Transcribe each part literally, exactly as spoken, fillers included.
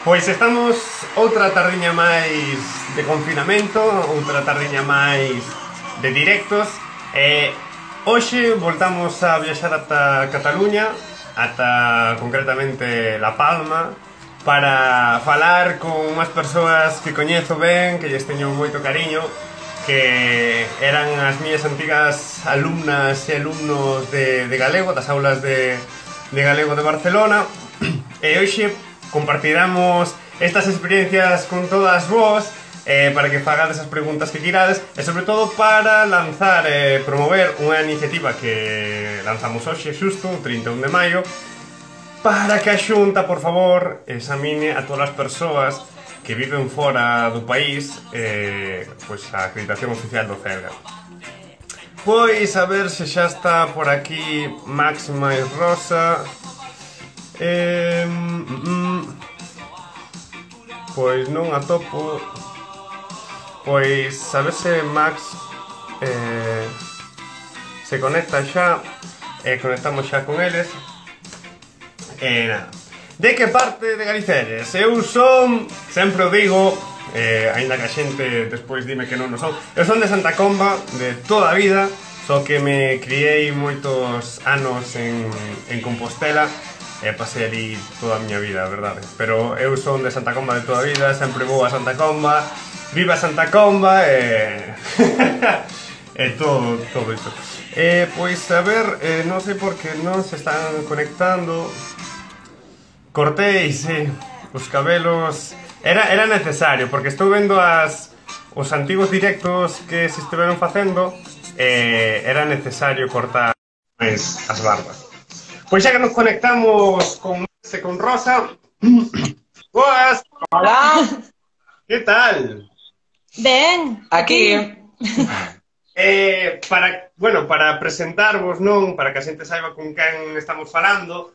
Pois estamos outra tardiña máis de confinamento, outra tardiña máis de directos. E hoxe voltamos a viaxar ata Cataluña, ata concretamente La Palma, para falar con unhas persoas que coñezo ben, que lles teño moito cariño, que eran as miñas antigas alumnas e alumnos de, de galego, das aulas de, de galego de Barcelona. E hoxe compartiramos estas experiencias con todas vos, eh, para que fagades as preguntas que quirades e sobre todo para lanzar e eh, promover unha iniciativa que lanzamos hoxe xusto, o trinta e un de maio, para que a Xunta, por favor, examine a todas as persoas que viven fora do país eh, pois a acreditación oficial do Celga. Pois a ver se xa está por aquí Max máis Rosa. Eh, mm, mm, pois non atopo. Pois a ver se Max eh, se conecta xa. E eh, conectamos xa con eles. E eh, nada. De que parte de Galicia eres? Eu son, sempre o digo, eh, aínda que a xente despois dime que non o son, eu son de Santa Comba de toda a vida, só que me criei moitos anos en, en Compostela e pasei ali toda a miña vida, a verdade. Pero eu son de Santa Comba de toda a vida, sempre vou a Santa Comba, viva Santa Comba e... e todo, todo iso. Eh, pois, a ver, eh, non sei por que non se están conectando. Cortei, sí, os cabelos... Era, era necesario, porque estou vendo as, os antigos directos que se estiveron facendo e eh, era necesario cortar máis as barbas. Pois xa que nos conectamos con Max e con Rosa. Boas! Hola! Que tal? Ben, aquí. Eh, para, bueno, para presentarvos, non? Para que a xente saiba con quen estamos falando,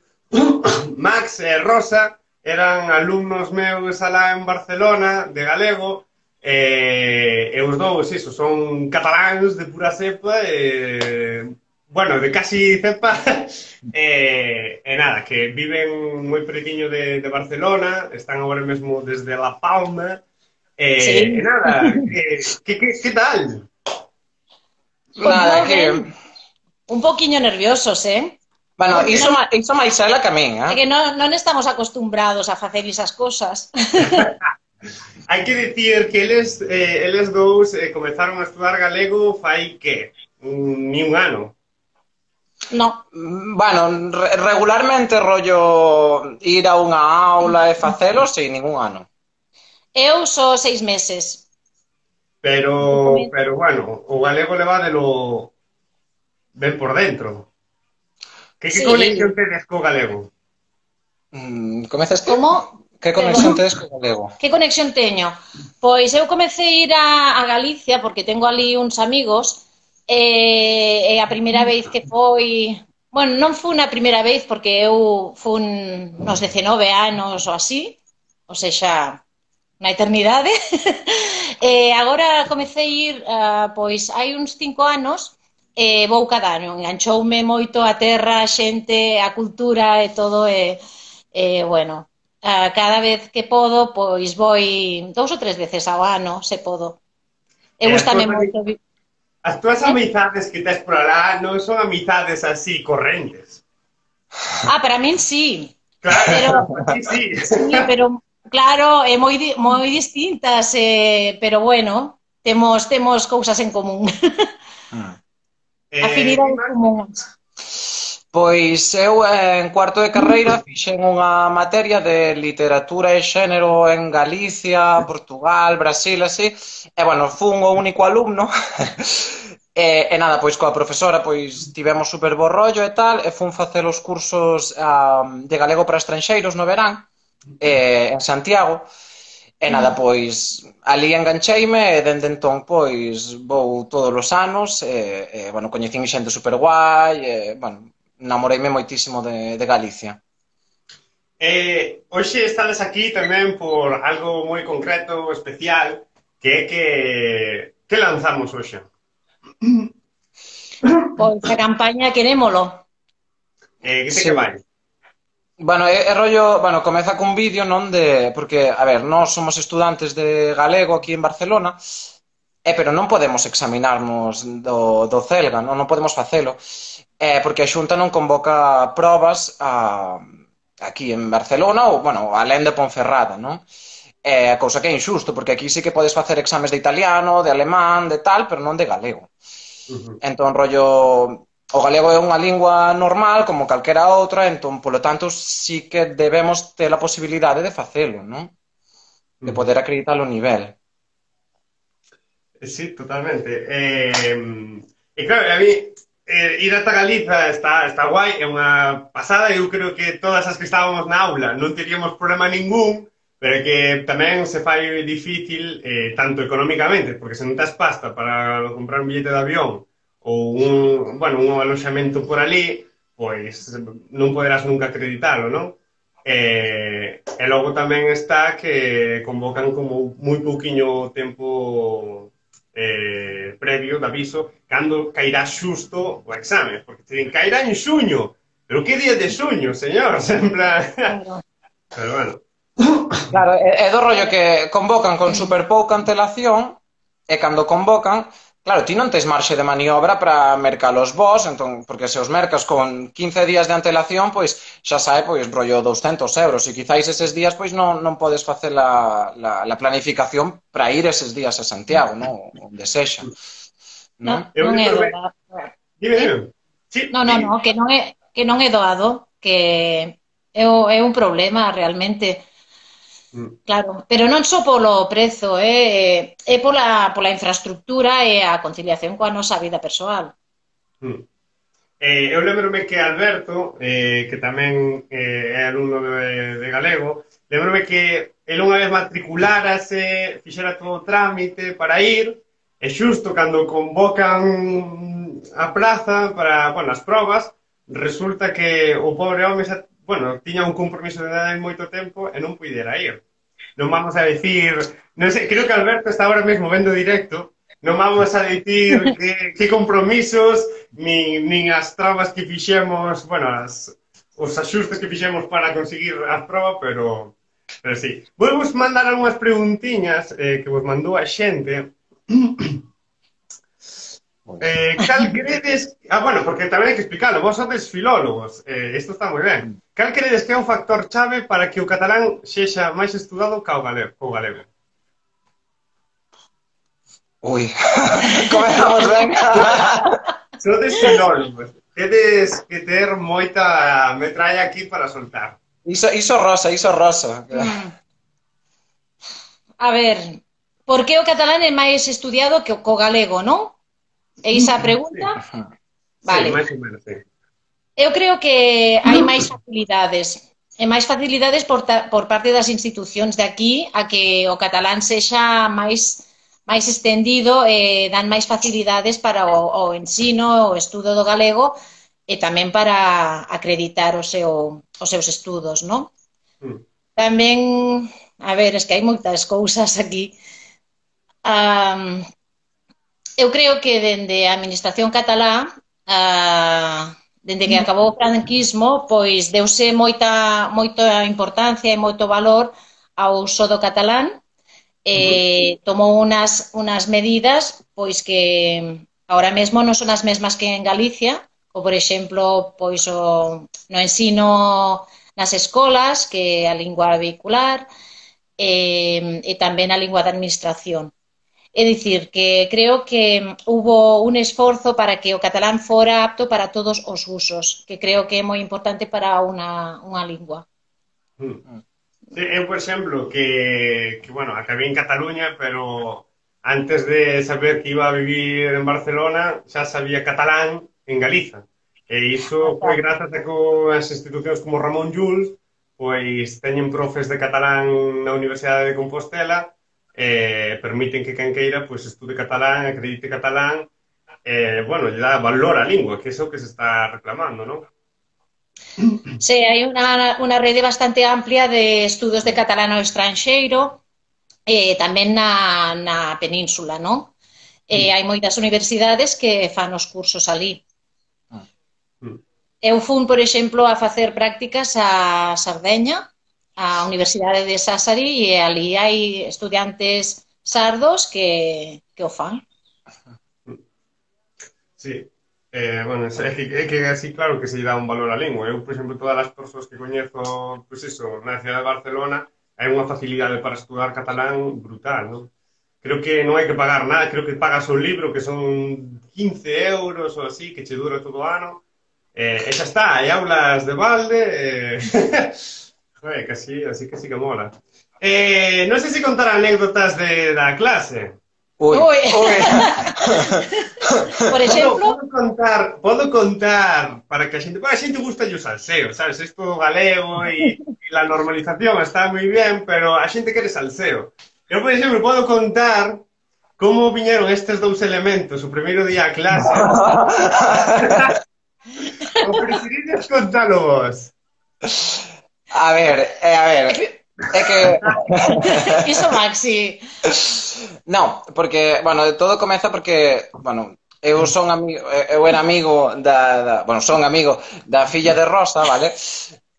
Max e Rosa eran alumnos meus alá en Barcelona, de galego, e, e os dous, iso, son cataláns de pura cepa, e... bueno, de casi cepa, e, e nada, que viven moi pretiño de, de Barcelona, están agora mesmo desde La Palma, e, Sí. e nada, que, que, que, que tal? Nada, que... Un poquinho nerviosos, eh? Bueno, iso, ma- iso máis ela que a min, É eh? que non, non estamos acostumbrados a facer esas cosas. Hai que dicir que eles, eh, eles dous eh, comezaron a estudar galego fai que? Un, ni un ano. No, Mm, Bueno, re- regularmente rollo ir a unha aula e facelo sin ningún ano. eu só seis meses. Pero, pero bueno, o galego levádelo ben por dentro. Que, que Sí. conexión tedes co galego? Mm, Comezas ti? Como? Que conexión tedes co galego? Que conexión teño? Pois eu comecei a ir a, a Galicia porque tengo ali uns amigos e, e a primeira vez que foi... Bueno, non foi na primeira vez porque eu fun nos dezenove anos ou así, ou sexa, na eternidade. E agora comecei a ir, ah, pois, hai uns cinco anos e vou cada ano. Enganchoume moito a terra, a xente, a cultura e todo e, e bueno... Uh, cada vez que podo, pois voi dous ou tres veces ao ano, se podo. E E as gustame túas moito. ami- As túas amizades que tes por alá non son amizades así correntes. Ah, para min sí. Claro, Pero, sí, sí. sí, pero claro, é moi di- moi distintas, eh, pero bueno, temos temos cousas en común. Eh, Afinidades Max, comuns. Pois eu en cuarto de carreira fixen unha materia de literatura e xénero en Galicia, Portugal, Brasil, así. E, bueno, fun o único alumno. E, e nada, pois coa profesora pois tivemos super bo rollo e tal, e fun facer os cursos ah, de galego para estranxeiros no verán, eh, en Santiago. E nada, pois ali engancheime e dende entón pois vou todos os anos e, e bueno, coñecín xente super guai e, bueno, namoreime moitísimo de, de Galicia. eh, hoxe estades aquí tamén por algo moi concreto, especial, que é que, que lanzamos hoxe. Pois a campaña querémolo. Eh, que te Sí. que vai? Bueno, é, é rollo, bueno, comeza cun vídeo, non de, porque, a ver, nós somos estudantes de galego aquí en Barcelona, eh, pero non podemos examinarnos do, do Celga, non, non podemos facelo, eh, porque a Xunta non convoca probas a, aquí en Barcelona ou, bueno, alén de Ponferrada, non? É a cousa que é injusto, porque aquí sí que podes facer exames de italiano, de alemán, de tal, pero non de galego. Ujú, Entón, rollo, o galego é unha lingua normal, como calquera outra, entón, polo tanto, sí que debemos ter a posibilidade de facelo, non? De ujú. poder acreditar o nivel. Sí, totalmente. Eh, e claro, a mí eh, ir ata Galiza está, está guai, é unha pasada, eu creo que todas as que estábamos na aula non teríamos problema ningún, pero que tamén se fai difícil eh, tanto económicamente, porque se non tes pasta para comprar un billete de avión ou un, bueno, un aloxamento por ali, pois non poderás nunca acreditalo, non? E, e logo tamén está que convocan como moi pouquiño tempo eh, previo de aviso cando cairá xusto o exame, porque te din, cairá en xuño, pero que día de xuño, señor? Sempre... Claro. Pero bueno. Claro, é, é do rollo que convocan con super pouca antelación e cando convocan, claro, ti non tes marxe de maniobra para mercalos vos, entón, porque se os mercas con quince días de antelación, pois xa sae, pois, rollo douscentos euros, e quizáis eses días, pois, non, non podes facer la, la, la planificación para ir eses días a Santiago, non? Onde sexa, non? Non, Eu non é lembro ben. doado. Dime, Sí? dime. Sí, Non, non, dime. non, que non é, que non é doado, que é, o- é un problema realmente. Mm, Claro, pero non só polo prezo, é, é pola, pola infraestructura e a conciliación coa nosa vida persoal. mm. Eh, eu lembrome que Alberto, eh, que tamén eh, é alumno de, de galego, lembrome que el unha vez matriculárase, fixera todo o trámite para ir, e xusto cando convocan a praza para, bueno, as probas, resulta que o pobre home xa, bueno, tiña un compromiso de edad en moito tempo e non puidera ir. Non vamos a decir, non sei, creo que Alberto está ahora mesmo vendo directo, non vamos a dicir que, que compromisos nin, nin as trabas que fixemos, bueno, as, os axustes que fixemos para conseguir a proba, pero, pero sí. Vou vos mandar algunhas preguntiñas eh, que vos mandou a xente. Eh, cal credes... Ah, bueno, porque tamén hai que explicarlo. Vos sodes filólogos. Eh, isto está moi ben. Cal credes que é un factor chave para que o catalán sexa máis estudado ca o galego? Co galego? Ui, comezamos ben. Sodes filólogos. Tedes que ter moita metralla aquí para soltar. Iso, iso rosa, iso rosa. Mm. A ver, por que o catalán é máis estudiado que o co galego, non? É esa a pregunta? Sí, Vale. sí, máis ou menos, sí. Eu creo que hai máis facilidades. E máis facilidades por, ta, por parte das institucións de aquí a que o catalán sexa máis máis extendido e dan máis facilidades para o, o ensino, o estudo do galego e tamén para acreditar o seu, os seus estudos, non? Mm. Tamén, a ver, es que hai moitas cousas aquí. Um, eu creo que dende a administración catalá, uh, dende que acabou o franquismo, pois deuse moita, moita importancia e moito valor ao uso do catalán. Eh, tomou unas, unas medidas pois que ahora mesmo non son as mesmas que en Galicia, ou por exemplo pois o, no ensino nas escolas, que é a lingua vehicular, e, e tamén a lingua de administración. É dicir, que creo que hubo un esforzo para que o catalán fora apto para todos os usos, que creo que é moi importante para unha, unha lingua. Mm. Sí, eu, por exemplo, que, que, bueno, acabei en Cataluña, pero antes de saber que iba a vivir en Barcelona, xa sabía catalán en Galiza. E iso foi grazas a que as institucións como Ramón Llull pois teñen profes de catalán na Universidade de Compostela e permiten que quen queira pois estude catalán, acredite catalán e, bueno, lle dá valor á lingua, que é iso que se está reclamando, non? Sí, hai unha, unha rede bastante amplia de estudos de catalán ao estranxeiro, eh, tamén na, na península, non? Eh, hai moitas universidades que fan os cursos ali. Mm. eu fun, por exemplo, a facer prácticas a Sardeña, a Universidade de Sassari, e ali hai estudiantes sardos que, que o fan. Sí. Eh, bueno, é que, é que así claro que se lle dá un valor á lingua. Eu, por exemplo, todas as persoas que coñezo, pois iso, na cidade de Barcelona, hai unha facilidade para estudar catalán brutal, non? Creo que non hai que pagar nada, creo que pagas o libro, que son quince euros ou así, que che dura todo o ano, eh, e xa está, hai aulas de balde, eh... Joder, que así, así que sí que mola. Eh, non sei se contar anécdotas de, da clase. Ui, Ui. ui. Por exemplo, Podo, podo contar, podo contar para que a xente, para a xente gusta o salseo, sabes? Isto galego e, e la normalización está moi bien, pero a xente quere salseo. Eu, por exemplo, podo contar como viñeron estes dous elementos o primeiro día a clase. O preferides contalo vos? A ver, eh, a ver, é que... iso Maxi. Non, porque, bueno, todo comeza porque, bueno, eu son amigo, eu era amigo da, da bueno, son amigo da filla de Rosa, vale?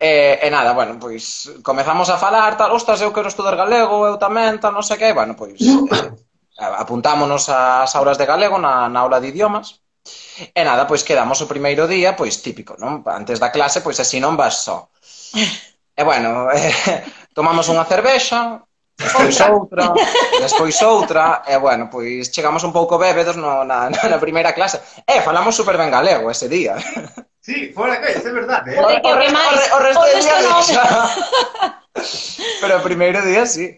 E, e nada, bueno, pois comezamos a falar, tal, ostras, eu quero estudar galego, eu tamén, tal, non sei que, bueno, pois eh, apuntámonos ás aulas de galego na, na aula de idiomas. E nada, pois quedamos o primeiro día, pois típico, non? Antes da clase, pois así non vas só. E bueno, eh, tomamos unha cervexa, despois outra, despois outra, e bueno, pois chegamos un pouco bébedos no, na, na primeira clase. E falamos super ben galego ese día. Sí, fora que, é verdade, eh? O, Joder, que o, que re- o, máis? re- o resto O del resto día non. xa. Pero o primeiro día sí.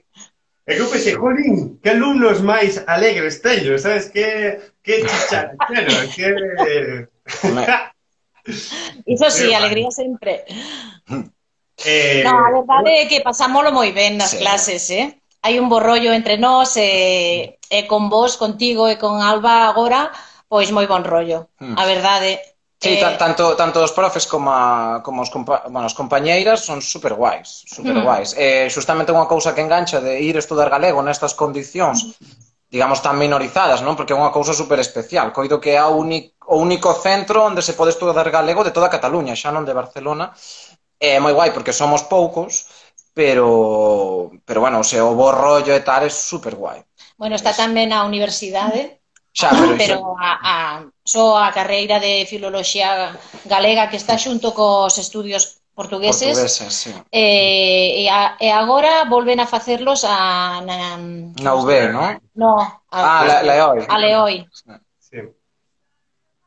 E que eu pensei, jolín, que alumnos máis alegres teño, sabes? Que, que chicharachero, que... Iso sí, Qué alegría sempre. eh, No, a verdade é que pasámolo moi ben nas Sí. clases, eh? Hai un bo rollo entre nós e, e con vos, contigo e con Alba agora, pois moi bon rollo. Mm. A verdade. Sí, eh, ta- tanto, tanto os profes como, a, como os, compa bueno, as compañeiras son super guais, super guais. Eh, xustamente unha cousa que engancha de ir estudar galego nestas condicións, digamos, tan minorizadas, non? Porque é unha cousa super especial. Coido que é a uni- o único centro onde se pode estudar galego de toda Cataluña, xa non de Barcelona. É moi guai porque somos poucos, pero, pero bueno, o sea, o bo rollo e tal é super guai. Bueno, está tamén a universidade, Xa, pero, pero a, a, só a carreira de filoloxía galega que está xunto cos estudios portugueses, portugueses, sí. e, e, a, e agora volven a facerlos a... Na, Na U B, non? no, a, Ah, la, la E O I. a Leoi, sí.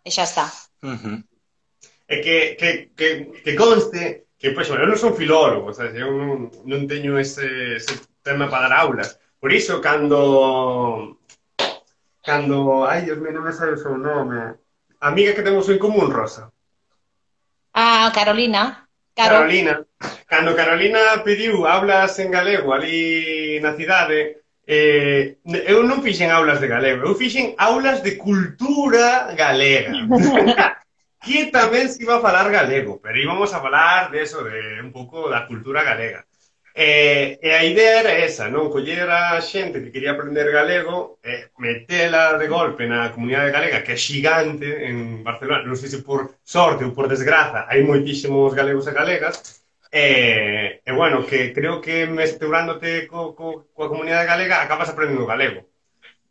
e xa está. Uh-huh. É que, que, que, que conste que, pois, eu non son filólogo, sabes? Eu non, non teño ese, ese tema para dar aulas. Por iso, cando... Cando... Ai, Dios mío, non me sabe o seu nome. A amiga que temos en común, Rosa. A Carolina. Caro. Carolina. Cando Carolina pediu aulas en galego ali na cidade, eh, eu non fixen aulas de galego, eu fixen aulas de cultura galega. Que tamén se iba a falar galego, pero íbamos a falar de eso, de un pouco da cultura galega. E, e a idea era esa, non? Coller a xente que quería aprender galego e metela de golpe na comunidade galega, que é xigante en Barcelona, non sei se por sorte ou por desgraza, hai moitísimos galegos e galegas, e, e bueno, que creo que mesturándote co, co, coa comunidade galega acabas aprendendo galego.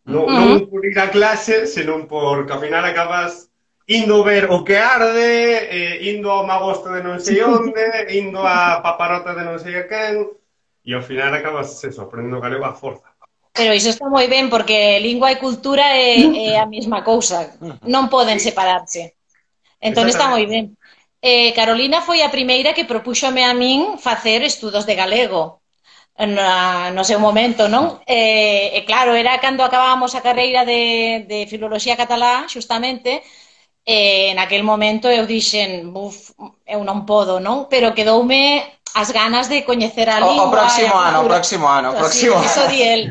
Non, non por ir a clase, senón por que ao final acabas indo ver o que arde, eh, indo ao magosto de non sei onde, indo a paparota de non sei a quen, e ao final acabas eso, aprendendo galego a forza. Pero iso está moi ben, porque lingua e cultura é, é a mesma cousa. Non poden separarse. Entón está moi ben. Eh, Carolina foi a primeira que propúxome a min facer estudos de galego. Na, no seu momento, non? E, e claro, era cando acabábamos a carreira de, de filoloxía catalá, xustamente, e naquel momento eu dixen, buf, eu non podo, non? Pero quedoume as ganas de coñecer a lingua. O, o próximo ano, o próximo ano, o próximo ano. Iso di el.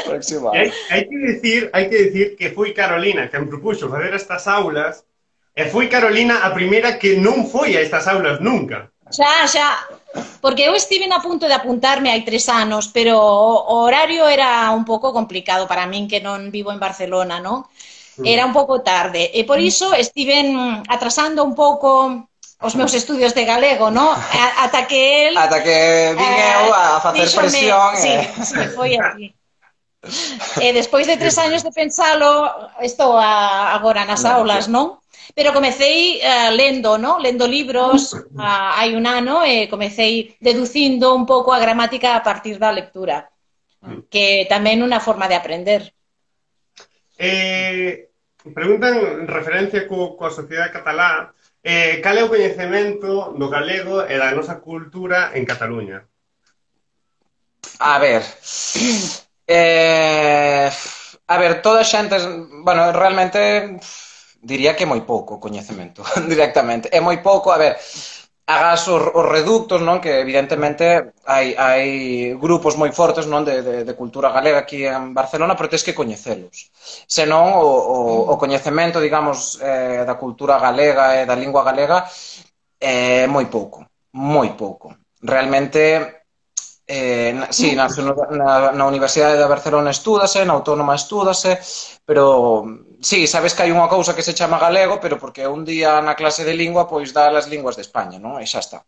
próximo E hai, ano. hai que decir, hai que decir que foi Carolina quen propuxo fazer estas aulas, e foi Carolina a primeira que non foi a estas aulas nunca. Xa, xa, porque eu estive a punto de apuntarme hai tres anos, pero o horario era un pouco complicado para min que non vivo en Barcelona, non? era un pouco tarde, e por iso estiven atrasando un pouco os meus estudios de galego, no? Ata que el... Ata que vin eu a facer díxome, presión. sí, e... sí, foi así. E despois de tres años de pensalo, estou a, agora nas aulas, non? Pero comecei uh, lendo, non? Lendo libros uh, hai un ano e comecei deducindo un pouco a gramática a partir da lectura, que tamén unha forma de aprender. Eh, preguntan en referencia co, coa sociedade catalá, eh, cal é o coñecemento do galego e da nosa cultura en Cataluña? A ver... Eh, a ver, toda a xente... Bueno, realmente diría que é moi pouco coñecemento, directamente. É moi pouco, a ver, agas os, os reductos, non? Que evidentemente hai, hai grupos moi fortes, non? De, de, de cultura galega aquí en Barcelona, pero tens que coñecelos. Senón, o, o, o coñecemento, digamos, eh, da cultura galega e da lingua galega é moi pouco, moi pouco. Realmente... Eh, na, sí, na, na, na Universidade de Barcelona estúdase, na Autónoma estúdase, pero sí, sabes que hai unha cousa que se chama galego, pero porque un día na clase de lingua pois dá as linguas de España, non? E xa está.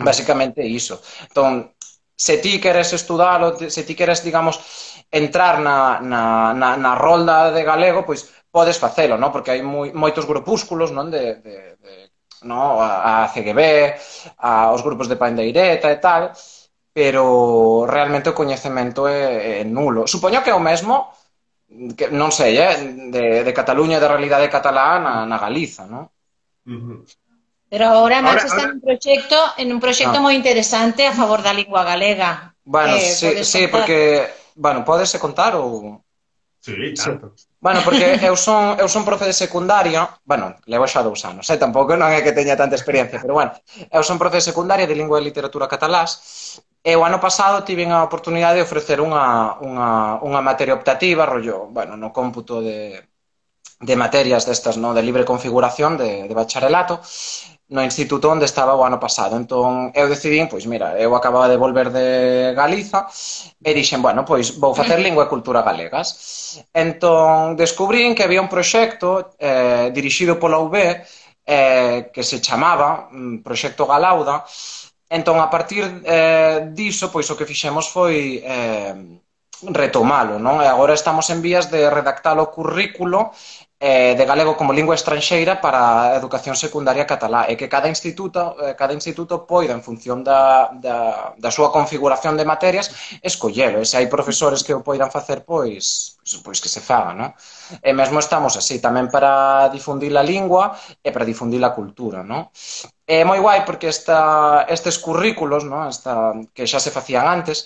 Basicamente iso. Entón, se ti queres estudalo, se ti queres, digamos, entrar na, na, na, na rolda de galego, pois podes facelo, non? Porque hai moi, moitos grupúsculos, non? De, de, de, no? A, a C G B, a, os grupos de Pandeireta e tal, pero realmente o coñecemento é, é nulo. Supoño que é o mesmo, que, non sei, eh, de, de Cataluña e da realidade catalá na, na Galiza, non? Uh-huh. Pero agora Max Ahora, está ahora... nun proxecto, en un proxecto ah. moi interesante a favor da lingua galega. Bueno, eh, sí, sí, porque, bueno, podese contar ou... Sí, tanto. Sí. Bueno, porque eu son, eu son profe de secundaria, bueno, levo xa dous anos, eh? Tampouco non é que teña tanta experiencia, pero bueno, eu son profe de secundaria de lingua e literatura catalás, e o ano pasado tiven a oportunidade de ofrecer unha, unha, unha materia optativa, rollo, bueno, no cómputo de, de materias destas, no, de libre configuración de, de bacharelato, no instituto onde estaba o ano pasado. Entón, eu decidín, pois mira, eu acababa de volver de Galiza e dixen, bueno, pois vou facer lingua e cultura galegas. Entón, descubrín que había un proxecto eh, dirixido pola U B eh, que se chamaba um, Proxecto Galauda. Entón, a partir eh, diso, pois o que fixemos foi eh, retomalo, non? E agora estamos en vías de redactar o currículo de galego como lingua estranxeira para a educación secundaria catalá, e que cada instituto, cada instituto poida, en función da, da, da súa configuración de materias, escollelo. E se hai profesores que o poidan facer, pois, pois que se faga, non? E mesmo estamos así, tamén para difundir a lingua e para difundir a cultura, non? É moi guai porque esta, estes currículos, non? Esta, que xa se facían antes,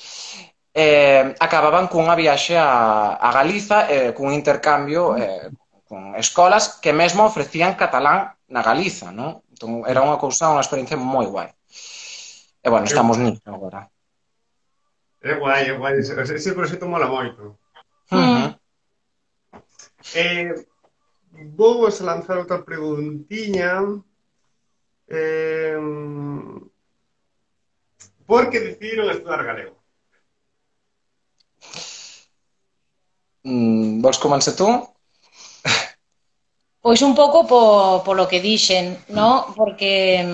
eh, acababan cunha viaxe a, a Galiza, eh, cun intercambio eh, con escolas que mesmo ofrecían catalán na Galiza, non? Entón, era unha cousa, unha experiencia moi guai. E, bueno, estamos nisso agora. É guai, é guai. Ese, ese proxecto mola moito. Uh-huh. Eh, vou a lanzar outra preguntiña. Eh, por que decidiron estudar galego? Mm, vols començar tu? Pois un pouco po, polo que dixen, no? Porque,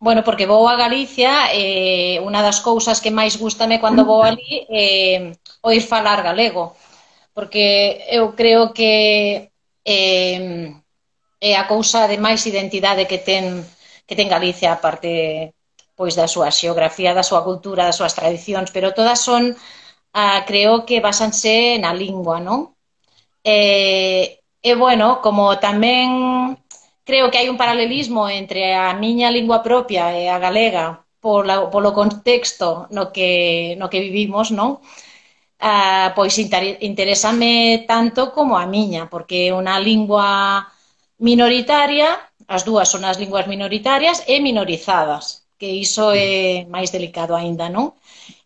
bueno, porque vou a Galicia e eh, unha das cousas que máis gustame cando vou ali é eh, oír falar galego, porque eu creo que eh, é a cousa de máis identidade que ten, que ten Galicia, aparte pois da súa xeografía, da súa cultura, das súas tradicións, pero todas son, ah, creo que basanse na lingua, non? E... E, bueno, como tamén creo que hai un paralelismo entre a miña lingua propia e a galega polo, polo contexto no que, no que vivimos, non? Ah, pois interésame tanto como a miña, porque é unha lingua minoritaria, as dúas son as linguas minoritarias e minorizadas, que iso é máis delicado aínda, non?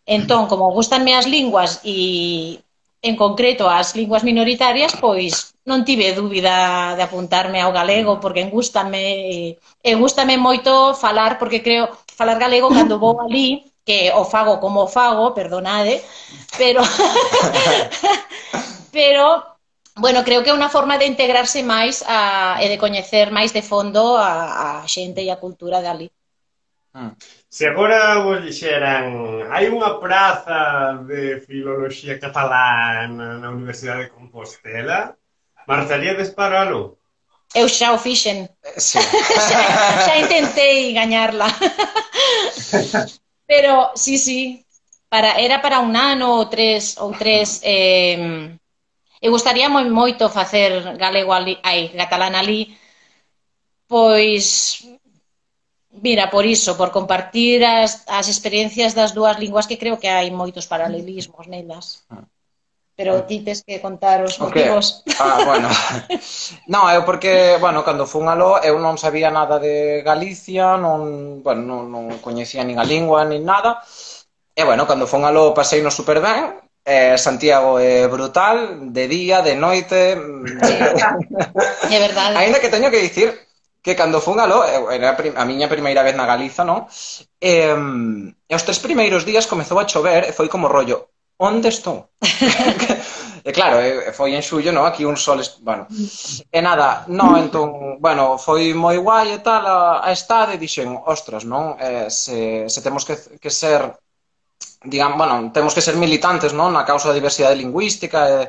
Entón, como gustanme as linguas e, en concreto, as linguas minoritarias, pois non tive dúbida de apuntarme ao galego, porque gústame, e gústame moito falar, porque creo, falar galego cando vou ali, que o fago como o fago, perdonade, pero pero bueno, creo que é unha forma de integrarse máis a, e de coñecer máis de fondo a, a xente e a cultura de ali. Mm. Se agora vos dixeran hai unha praza de filoloxía catalán na Universidade de Compostela, marcharíades para aló? Eu xa o fixen. Eh, Sí. xa, xa intentei gañarla. Pero, sí, sí, para, era para un ano ou tres, ou tres eh, e gustaría moi moito facer galego ali, ai, catalán ali, pois, mira, por iso, por compartir as, as experiencias das dúas linguas que creo que hai moitos paralelismos nelas. Pero ti tes que contar os O que? motivos. Ah, bueno. Non, eu porque, bueno, cando fun aló eu non sabía nada de Galicia, non, bueno, non, non coñecía nin a lingua nin nada. E, bueno, cando fun aló pasei no super ben. Eh, Santiago é brutal, de día, de noite. Sí, é verdade. Ainda que teño que dicir que cando fun aló, eu- era a prim- a miña primeira vez na Galiza, non? E, e os tres primeiros días comezou a chover e foi como rollo, onde estou? E claro, e- e foi en xullo, non? Aquí un sol, es- bueno. E nada, non, entón, bueno, foi moi guai e tal a, a estade, e dixen, ostras, non? Eh, se, se temos que, que ser, digamos, bueno, temos que ser militantes, non? Na causa da diversidade lingüística e,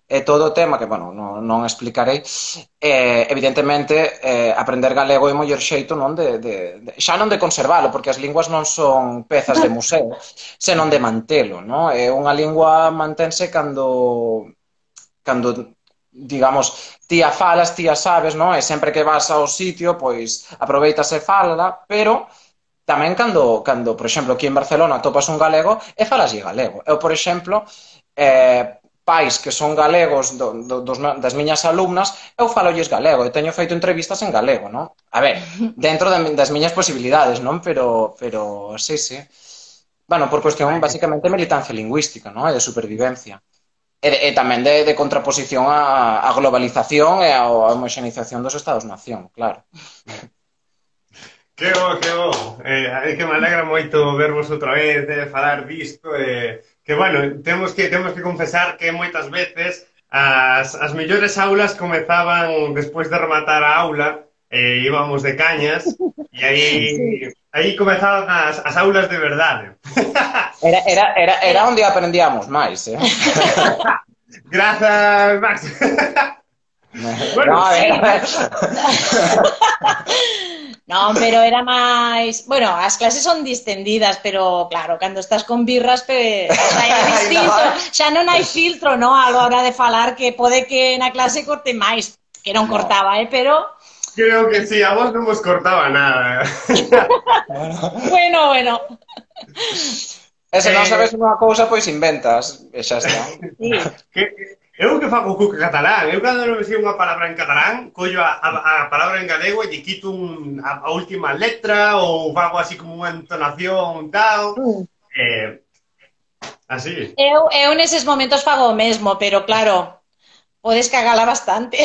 e todo o tema que, bueno, non, non explicarei. Eh, evidentemente, eh, aprender galego é o mellor xeito, non? De, de, de, xa non de conservalo, porque as linguas non son pezas de museo, senón de mantelo, non? É unha lingua mantense cando, cando digamos, ti a falas, ti a sabes, non? E sempre que vas ao sitio, pois aproveitas e fálala, pero tamén cando, cando, por exemplo, aquí en Barcelona topas un galego e falaslle galego. Eu, por exemplo, eh, pais que son galegos do, do, dos, das miñas alumnas, eu falolles galego e teño feito entrevistas en galego, non? A ver, dentro das miñas posibilidades, non? Pero, pero sí, sí. Bueno, por cuestión basicamente militancia lingüística, non? E de supervivencia. E, e tamén de, de contraposición á, á globalización e á homoxenización dos Estados-nación, claro. Que bo, que bo. Eh, que me alegra moito vervos outra vez, eh, falar disto, eh, que, bueno, temos que temos que confesar que moitas veces as, as mellores aulas comezaban despois de rematar a aula, e eh, íbamos de cañas, e aí aí comezaban as, as aulas de verdade. Era, era, era, era onde aprendíamos máis, eh? Grazas, Max. Bueno, No, a ver. Non, pero era máis... Bueno, as clases son distendidas, pero claro, cando estás con birras, pe... xa é distinto, xa non hai filtro, no? A hora de falar, que pode que na clase corte máis, que non cortaba, eh, pero... creo que sí, a vos non vos cortaba nada. Bueno, bueno. E se non Eh, sabes unha cousa, pois inventas, e xa está. Sí. Que, eu que fago co catalán, eu cando non me sei unha palabra en catalán, collo a, a, a palabra en galego e lle quito un, a, a última letra ou fago así como unha entonación tal, eh, así. Eu, eu neses momentos fago o mesmo, pero claro, podes cagala bastante.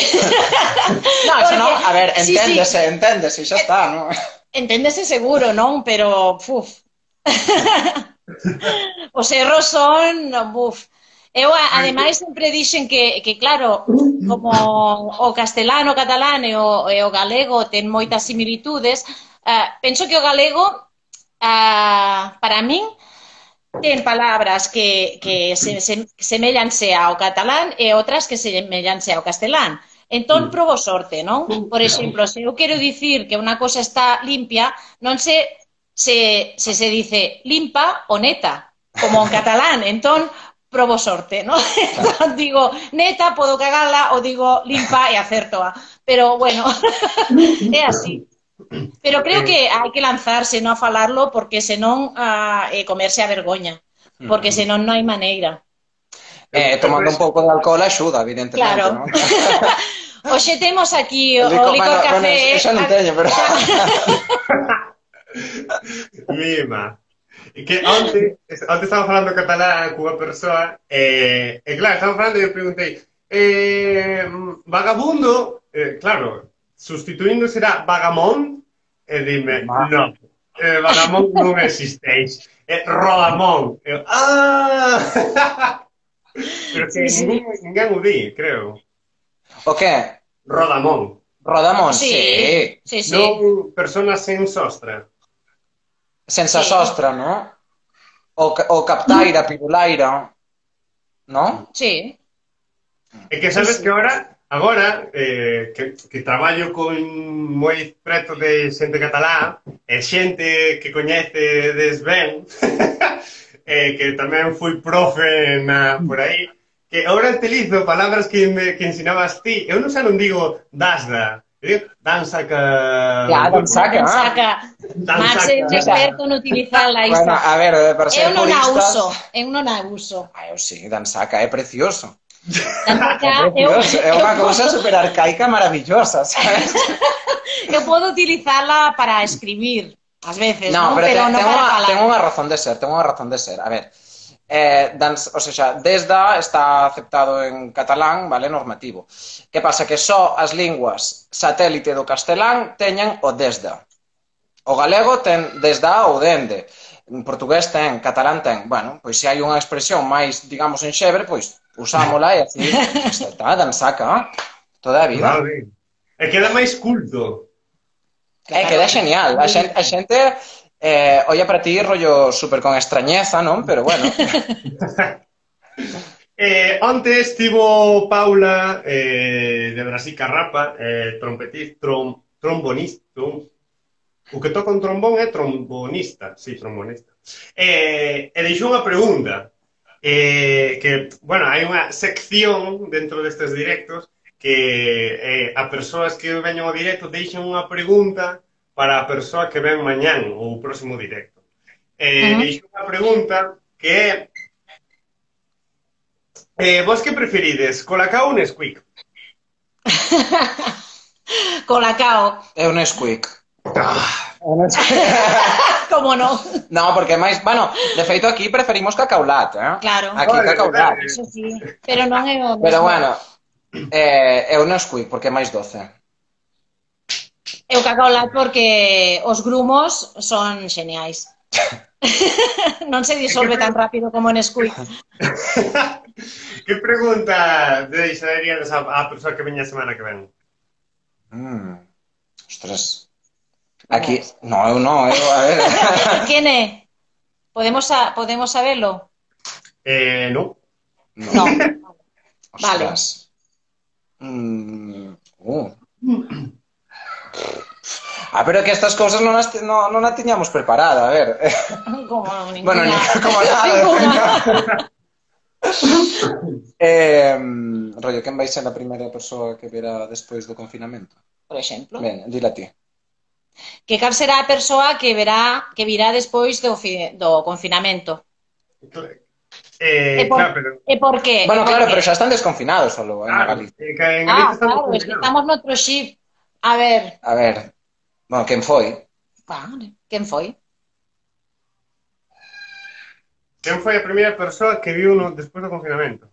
No, eso non, a ver, Sí, sí. enténdese, enténdese, xa está, non? Enténdese seguro, non? Pero, puf. Os erros son, buf. Eu, ademais, sempre dixen que, que claro, como o castelano, o catalán e o, e o galego ten moitas similitudes, uh, penso que o galego, uh, para min, ten palabras que, que se, se, semellanse ao catalán e outras que semellanse ao castelán. Entón, probo sorte, non? Por exemplo, se eu quero dicir que unha cosa está limpia, non se se, se, se dice limpa ou neta, como en catalán. Entón, probo sorte, non? Entón, digo neta, podo cagala, ou digo limpa e acertoa. Pero, bueno, é así. Pero creo que hai que lanzarse, non a falarlo, porque senón uh, é comerse a vergoña. Porque senón non hai maneira. Eh, tomando un pouco de alcohol axuda, evidentemente, Claro. non? Oxe, temos aquí o, Licor, o licor bueno, café. bueno, xa non teño, pero... Mima. E que onte, onte estaba falando catalán cunha persoa e, e claro, estaba falando e eu preguntei eh, vagabundo, eh, claro, sustituindo será vagamón e dime, Ma- non, eh, vagamón non existeix, é rodamón. Eu, ah! Pero que Sí, sí. ningún, ninguén o di, creo. O que? Rodamón. Rodamón, Sí, sí. sí, sí. Non personas sen sostra. Senza Sí. sostra, ¿no? O, ca- o captaira, pirulaira, ¿no? Sí, É que sí, sabes sí. que agora, agora eh, que, que traballo con moi preto de xente catalá e xente que coñecedes ben, eh, que tamén fui profe na, por aí, que agora utilizo palabras que, me, que ensinabas ti. Eu non xa non digo dasda, eu digo dansa que... Ya, dansaca. Ah, saca. Marx é un Dansaca. experto en utilizarla Bueno, esta. a ver, para ser Eu non a puristas... uso, eu non a uso. Ah, eu sí, dansaca é precioso. Dansaca, eu, Precioso, é eu, unha cousa super arcaica maravillosa, sabes? eu podo utilizarla para escribir, ás veces, No, non? pero, Pero ten, non ten, para unha, falar. ten unha razón de ser, ten unha razón de ser. A ver, eh, dans, o sea, desda está aceptado en catalán, vale, normativo. Que pasa? Que só as linguas satélite do castelán teñen o desda. O galego ten desda ou dende. En portugués ten, catalán ten. Bueno, pois se hai unha expresión máis, digamos, enxebre, pois usámola e así, está, dansaca, toda a vida. Vale. E queda máis culto. É, queda genial. A xente, a xente eh, olla para ti rollo super con extrañeza, non? Pero bueno. Eh, antes estivo Paula eh, de Brasil Carrapa, eh, trompetista, trom, trombonista, trom, o que toca un trombón é trombonista, sí, trombonista. Eh, e deixou unha pregunta, eh, que, bueno, hai unha sección dentro destes directos que eh, a persoas que veñen ao directo deixan unha pregunta para a persoa que ven mañán ou o próximo directo. Eh, Ujú. deixou unha pregunta que é Eh, vos que preferides, Colacao ou Nesquik? Colacao, É un Nesquik. Ah, como non? No, porque máis, bueno, de feito aquí preferimos cacaulat, eh? Claro. Aquí Vale, cacaulat. vale. Eso sí, pero non é o mesmo. Pero bueno, eh, é un Nesquik porque é máis doce. Eu cacao lat porque os grumos son xeniais. Non se disolve tan rápido como en Nesquik. que pregunta deixaríades a, a persoa que veña a semana que ven? Mm. Ostras. Aquí, no, eu non, eu, a ver. Quen é? Podemos, a, podemos saberlo? Eh, no. No. Vale. Ostras. Mm. Uh. Ah, pero que estas cousas non as, no, non a tiñamos preparada, a ver. Como ninguna. Bueno, ni, como nada. Ninguna. eh, rollo, quen vai ser a primeira persoa que verá despois do confinamento? Por exemplo. Ben, dila ti. Que cal será a persoa que verá que virá despois do, fi, do confinamento? Eh, E por, claro, pero... e por qué? Bueno, E por claro, qué? pero xa están desconfinados solo en Claro, Galicia. eh, que en Ah, Galicia estamos claro, es que confinados. estamos noutro chip. A ver, A ver, bueno, quen foi? vale, quen foi? Quen foi a primeira persoa que viu no, despois do confinamento?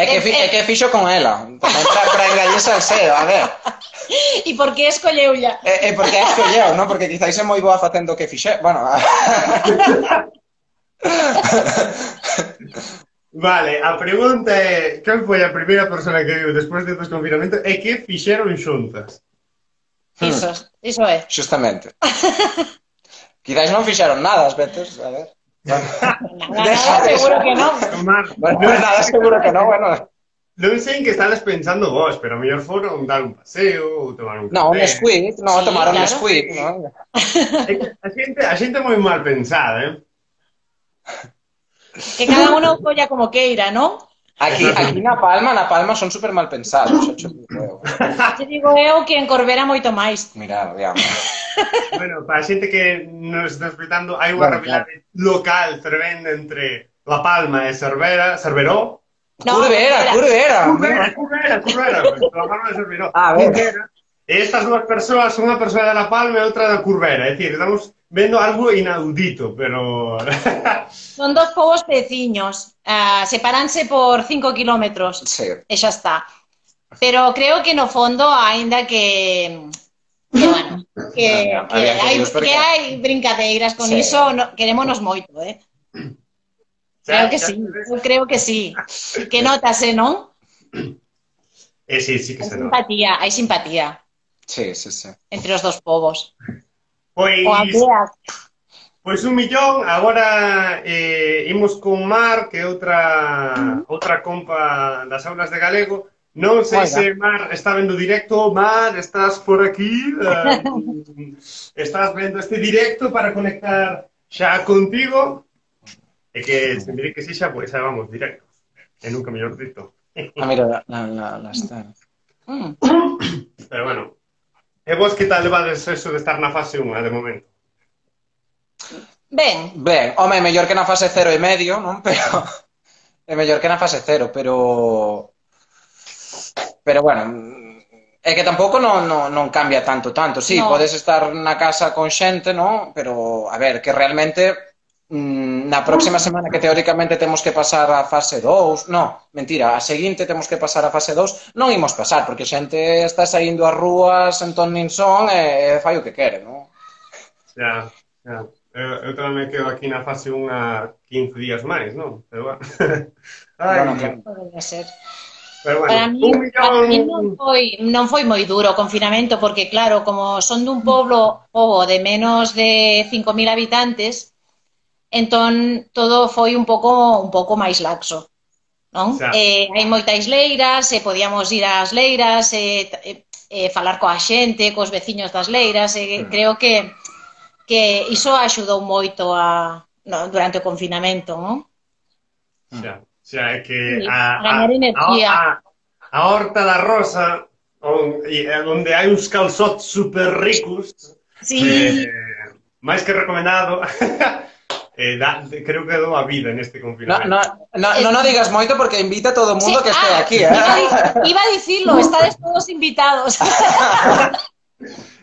É que, fi, é que fixo con ela, tamén para, para engañarse al seo, a ver. E por que escolleulla? É, é porque é escolleu, non? Porque quizáis é moi boa facendo o que fixe. Bueno, Vale, a pregunta é quen foi a primeira persoa que viu despois do desconfinamento e que fixeron xuntas? Iso, iso é. justamente. Quizáis non fixeron nada as veces, a ver. Bueno, Nada, nada, seguro que non. Tomar, bueno, nada, seguro que non, bueno. non sei en que estades pensando vos, pero a mellor foron dar un paseo ou tomar un café. No, un Nesquik, no, Sí, tomaron un claro. Nesquik, non? A xente, a xente é moi mal pensada, eh? Que cada uno colla como queira, non? Aquí, aquí na Palma, na Palma son super mal pensados, xa cho digo eu. Te digo eu que en Corbera moito máis. Mira, digamos. Bueno, para a xente que nos está escutando, hai unha Bueno, rivalidade local fervendo entre La Palma e Cervera, Cerveró. No, Curvera, Corbera. curvera. Curvera, Curvera, Curvera, La Palma e Cerveró. Ah, ben. Curvera. E estas dúas persoas, unha persoa de La Palma e outra da Curvera, é dicir, estamos vendo algo inaudito, pero... Son dos povos veciños, uh, separanse por cinco kilómetros, Sí. e xa está. Pero creo que no fondo, aínda que... que, bueno, que, No, no, que, había que hai, Dios, porque- que hai brincadeiras con Sí. iso, no, querémonos moito, eh? Creo que sí, eu creo que sí. Que notase, non? E sí, sí que Hai se nota. simpatía, hai simpatía Sí, sí, sí. entre os dos povos. O Pois, aldeas. pois un millón, agora eh, imos con Mar, que é outra outra compa das aulas de galego. Non sei Oiga. se Mar está vendo o directo. Mar, estás por aquí? Eh, estás vendo este directo para conectar xa contigo? E que se me di que sí xa, pois xa vamos directos. E nunca mellor dito. Ah, mira, la, la, la, la está. Mm. Pero bueno. E vos que tal levades eso de estar na fase un de momento? Ben, Ben, home, mellor que na fase cero e medio, non? Pero é mellor que na fase cero, pero pero bueno, é que tampouco non, non, non cambia tanto, tanto. Sí, No. podes estar na casa con xente, non? Pero, a ver, que realmente mm, na próxima semana que teóricamente temos que pasar a fase dous, no, mentira, a seguinte temos que pasar a fase dous, non imos pasar, porque a xente está saindo ás rúas en ton nin son e fai o que quere, non? Xa, xa. Eu, eu tamén me quedo aquí na fase un a quince días máis, non? Pero bueno. Ai, Bueno, claro. podería ser. pero bueno, Para mí, un para mí millón... non foi, non foi moi duro o confinamento, porque claro, como son dun poblo, pobo de menos de cinco mil habitantes, entón todo foi un pouco un pouco máis laxo, non? Xa. Eh, hai moitas leiras, e podíamos ir ás leiras, e, e, e falar coa xente, cos veciños das leiras, e Mm. creo que que iso axudou moito a no, durante o confinamento, non? Xa, xa, é que Sí, a, a, gañar energía. a, a Horta da Rosa, on, e, onde hai uns calzots super ricos, Sí. eh, máis que recomendado, eh, da, creo que dou a vida neste No, confinamento. no, no, non o digas moito porque invita a todo o mundo Sí, que este ah, aquí, Iba a, eh? di- iba a dicirlo, estades todos invitados.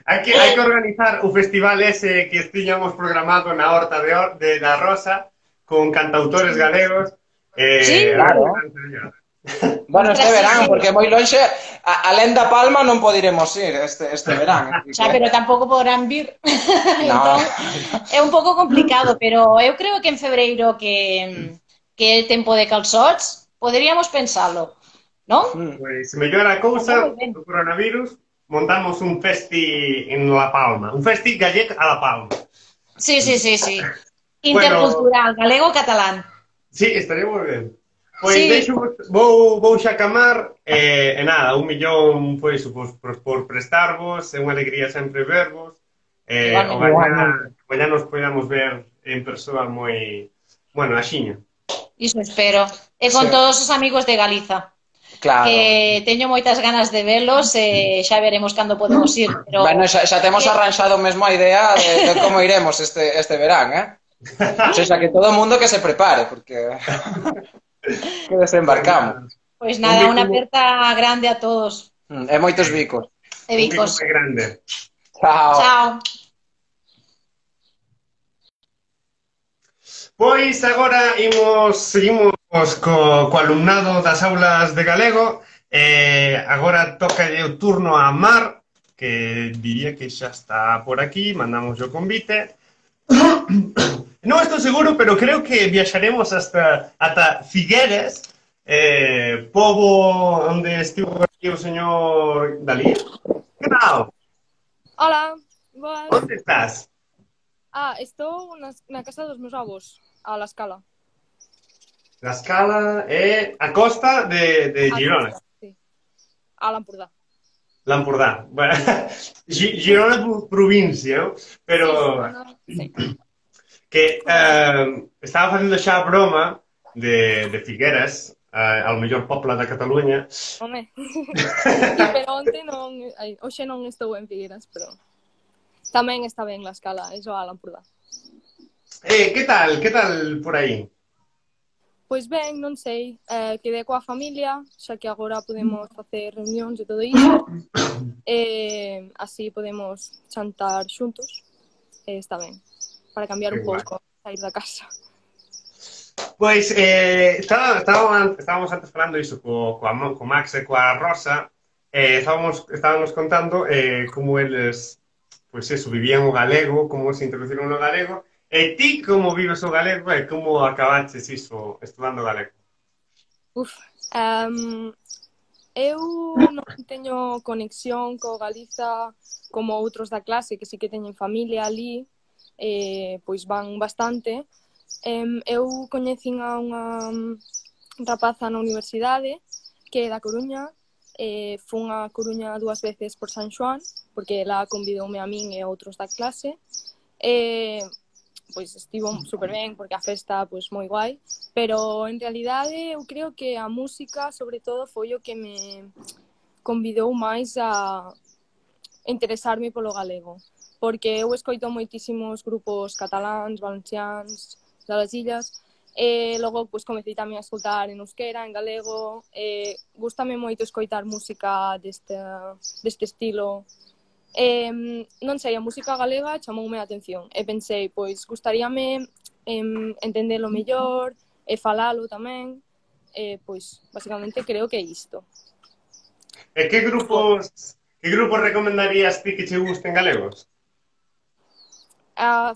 Hai que, hai que organizar o festival ese que estiñamos programado na Horta de, Or, de da Rosa con cantautores galegos. Eh, Sí, claro. sería. Bueno, este Ostras, sí, verán, sí. porque moi lonxe, a- alén da Palma non podiremos ir este, este verán. así Xa, que- pero tampouco podrán vir. No. Entón, é un pouco complicado, pero eu creo que en febreiro que que é tempo de calzots, poderíamos pensalo, non? Mm. Pois, se mellora a cousa Moi ben. do coronavirus, montamos un festi en La Palma. Un festi gallec a La Palma. Sí, sí, sí, sí. Intercultural, galego-catalán. Sí, estaría moi ben. Pois Sí. deixo, vou, vou xa camar e, e nada, un millón pois, por, por, por prestarvos, é unha alegría sempre vervos. Eh, Igualmente. o mañá, Igualmente. mañá nos podamos ver en persoa moi... Bueno, axiña. Iso espero. E con Sí. todos os amigos de Galiza. Claro. Que teño moitas ganas de velos e xa veremos cando podemos ir. Pero Bueno, xa, xa temos que- arranxado mesmo a idea de, de como iremos este, este verán, eh? O sea, que todo o mundo que se prepare, porque que desembarcamos. Pois nada, Un unha bico- aperta grande a todos. Mm, E moitos bicos. E Un pico bicos. moi grande. Chao. Chao. Pois agora imos, seguimos co, co alumnado das aulas de galego. Eh, agora toca o turno a Mar, que diría que xa está por aquí, mandamos o convite. Non estou seguro, pero creo que viaxaremos hasta ata Figueres, eh, pobo onde estivo aquí o señor Dalí. Que tal? Hola, boas. Onde estás? Ah, estou na, na casa dos meus avós, a La Escala. La Escala e a costa de, de A Girona. Costa, sí. A l'Empordà. L'Empordà. Bueno, Gi- Girona é provincia, pero Sí, que eh, estaba facendo xa a broma de, de Figueras, eh, ao mellor popla da Cataluña. home. Sí, pero onte non... Ai, hoxe non estou en Figueras, pero... Tamén está ben La Escala, iso a l'Empordà. Eh, que tal? Que tal por aí? Pois ben, non sei, eh, quedei coa familia, xa que agora podemos facer reunións e todo iso. E así podemos chantar xuntos. E está ben, para cambiar Que un guai. pouco, sair da casa. Pois, eh, estaba, estábamos, estábamos antes falando iso co, co, co Max e coa Rosa, eh, estábamos, estábamos contando eh, como eles, pois eso, vivían o galego, como se introduciron no galego, e ti como vives o galego e como acabaches iso estudando galego? Uf, um, Eu non teño conexión co Galiza como outros da clase, que sí que teñen familia ali, eh, pois van bastante. Em, eu coñecín a unha rapaza na universidade, que é da Coruña, eh, fun a Coruña dúas veces por San Xoán, porque ela convidoume a min e a outros da clase, e pois estivo super ben, porque a festa pois moi guai, pero en realidade eu creo que a música, sobre todo, foi o que me convidou máis a interesarme polo galego, porque eu escoito moitísimos grupos cataláns, valenciáns, das illas, e logo pois comecei tamén a escoitar en euskera, en galego, e gústame moito escoitar música deste, deste estilo. Eh, non sei, a música galega chamoume a atención e pensei, pois, gustaríame em, entendelo mellor e falalo tamén, e, pois, basicamente creo que é isto. E que grupos, que grupos recomendarías ti que che gusten galegos? Uh,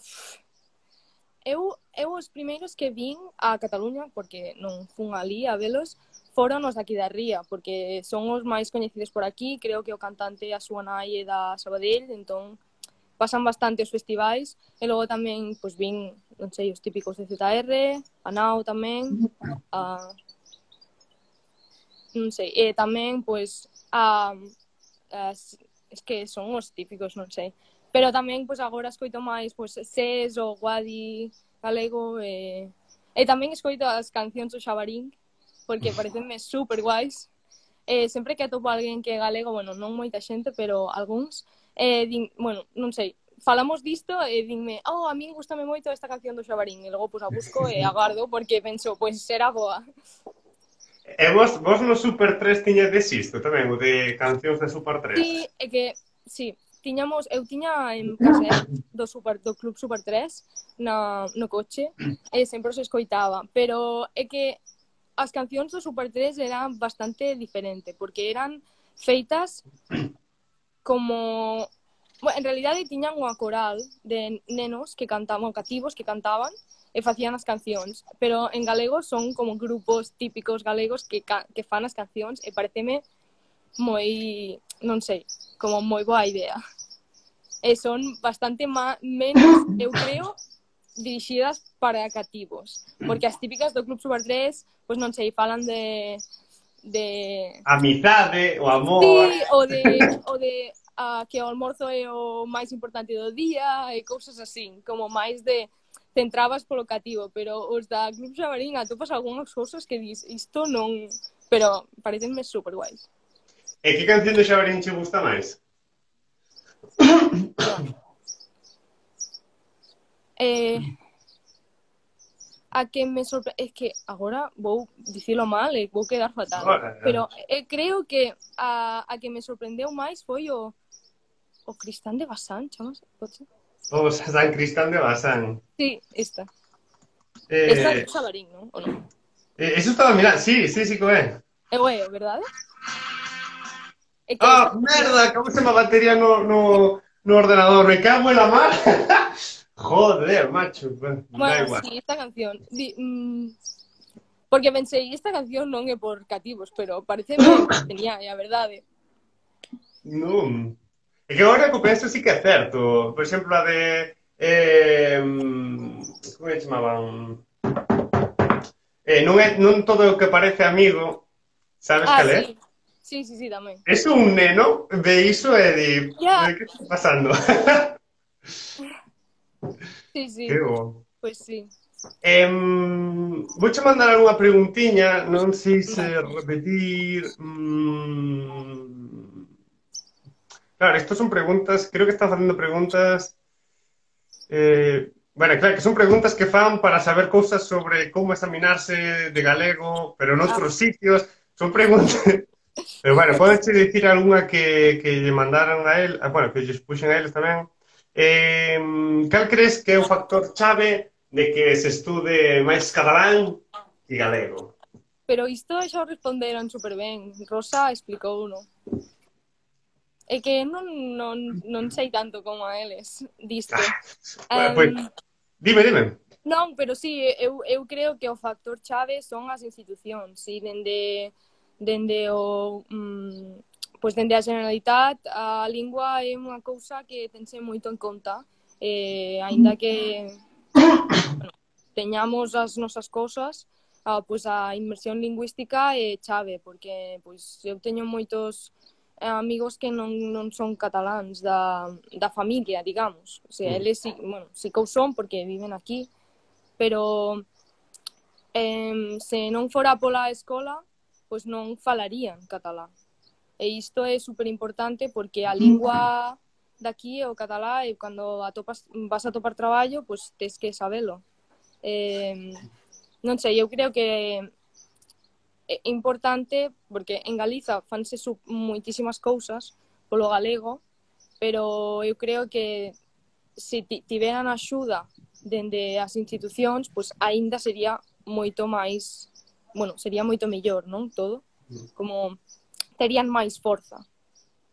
eu, eu os primeiros que vin a Cataluña, porque non fun ali a velos, foron os daqui da Ría, porque son os máis coñecidos por aquí, creo que o cantante a súa nai é da Sabadell, entón pasan bastante os festivais, e logo tamén, pois, vin, non sei, os típicos de Z R, a Nao tamén, a... non sei, e tamén, pois, a... as... es que son os típicos, non sei, pero tamén, pois, agora escoito máis, pois, Ses, o Guadi galego, e... e tamén escoito as cancións do Xabarín, porque parecenme super guais. Eh, sempre que atopo alguén que é galego, bueno, non moita xente, pero algúns, eh, din, bueno, non sei, falamos disto e dinme, oh, a min gustame moito esta canción do Xabarín, e logo pois a busco e agardo, porque penso, pois será boa. E vos, vos no Super tres tiñades isto tamén, o de cancións de Super tres? Sí, é que, sí, tiñamos, eu tiña en casa do, super, do Club Super tres na, no coche, e sempre os escoitaba, pero é que as cancións do Super tres eran bastante diferente, porque eran feitas como... Bueno, en realidade tiñan unha coral de nenos que cantaban, cativos que cantaban e facían as cancións, pero en galego son como grupos típicos galegos que, que fan as cancións e pareceme moi, non sei, como moi boa idea. E son bastante má, menos, eu creo, dirixidas para cativos, porque as típicas do Club Super tres, pois non sei, falan de... de... amizade, o amor... Sí, o de, o de uh, que o almorzo é o máis importante do día e cousas así, como máis de centrabas polo cativo, pero os da Club Xabarín atopas algunhas cousas que dis, isto non... Pero parecenme super guais. E que canción do Xabarín che gusta máis? Eh, a que me sorprende, es que agora vou dicilo mal e vou quedar fatal, Ahora, pero eh, creo que a, a que me sorprendeu máis foi o o Cristán de Basán, chamase? O San Cristán de Basán. Sí, esta. Eh, Esta é Xabarín, non? O non? eh, eso estaba mirando, sí, sí, sí, co é. É o é, verdade? É que Ah, esta- merda, acabo se má batería no, no, no ordenador, me cago en la mar. Joder, macho, bueno, da Bueno, igual. sí, esta canción. Di, mm, porque pensei, esta canción non é por cativos, pero parece que tenía, é a verdade. Non. É que agora que o penso sí que é certo. Por exemplo, a de... Eh, como é que chamaban? Eh, non, é, non todo o que parece amigo, sabes Ah, cal é? sí. Sí, sí, sí, tamén. Es un neno de iso e di... Ya. Que está pasando? Sí, sí, Que bo. pois sí. Eh, vouche mandar algunha preguntiña, non sei se repetir... Mm... Claro, estas son preguntas, creo que están facendo preguntas... Eh, bueno, claro, que son preguntas que fan para saber cousas sobre como examinarse de galego, pero en outros sitios. Son preguntas... Pero, bueno, podes dicir algunha que, que lle mandaron a él, ah, bueno, que lle expuxen a eles tamén. Eh, cal crees que é o factor chave de que se estude máis catalán e galego? Pero isto xa o responderon super ben. Rosa explicou uno. É que non, non, non sei tanto como a eles disto. Ah, pues, Um, dime, dime. non, pero sí, eu, eu creo que o factor chave son as institucións. E dende, dende o mm, pois dende a Generalitat a lingua é unha cousa que tense moito en conta, eh, aínda que bueno, teñamos as nosas cousas, ah, pois a inmersión lingüística é chave, porque pois eu teño moitos amigos que non, non son cataláns da, da familia, digamos. O sea, eles, bueno, sí que o son porque viven aquí, pero eh, se non fora pola escola, pois non falarían catalán. E isto é super importante porque a lingua daqui é o catalá e cando atopas, vas a topar traballo, pois tes que sabelo. Eh, non sei, eu creo que é importante porque en Galiza fanse moitísimas cousas polo galego, pero eu creo que se tiveran axuda dende as institucións, pois aínda sería moito máis, bueno, sería moito mellor, non? Todo, como terían máis forza,